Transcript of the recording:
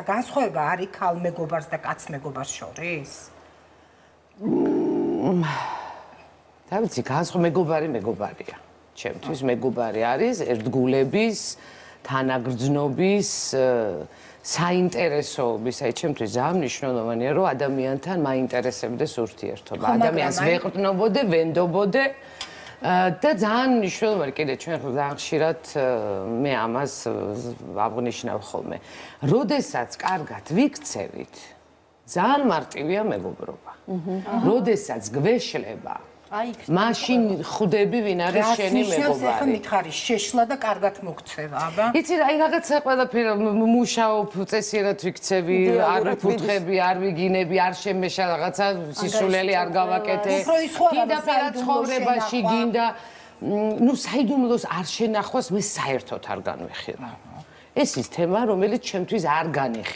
განსხვავება არის ქალ მეგობარს და კაც მეგობარს შორის? და ვიცი, მეგობარია. ჩემთვის მეგობარი არის ერთგულების, თანაგრძნობის, საინტერესოობის, აი ჩემთვის ძალიან მნიშვნელოვანია, რომ ადამიანთან მაინტერესებდეს ურთიერთობა. ადამიანს ვეყრდნობოდე, ვენდობოდე და ძალიან მნიშვნელოვანი კიდე ჩვენ ძალიან ხშირად მე ამას აღნიშნავ ხოლმე. როდესაც კარგად ვიქცევით, ძალიან მარტივია მეგობრობა. როდესაც გვეშლება, მაშინ ხვდები ვინ არის შენი მეგობარი. ახლა მითხარი, შეშლა და კარგად მოგცევა, აბა. იცი რა, რაღაცა ყველაფერი მუშაობ, წესიერად ვიქცევი, არ ვიფუთხები, არ ვიგინები, არ შემეშა რაღაცა სისულელი არ გავაკეთე. გინდა პირად ცხოვრებაში, გინდა საიდუმლოს არ შენახვას მე საერთოდ არ განვიხილავ. ეს ის თემა, რომელიც ჩემთვის არ განიხილავს.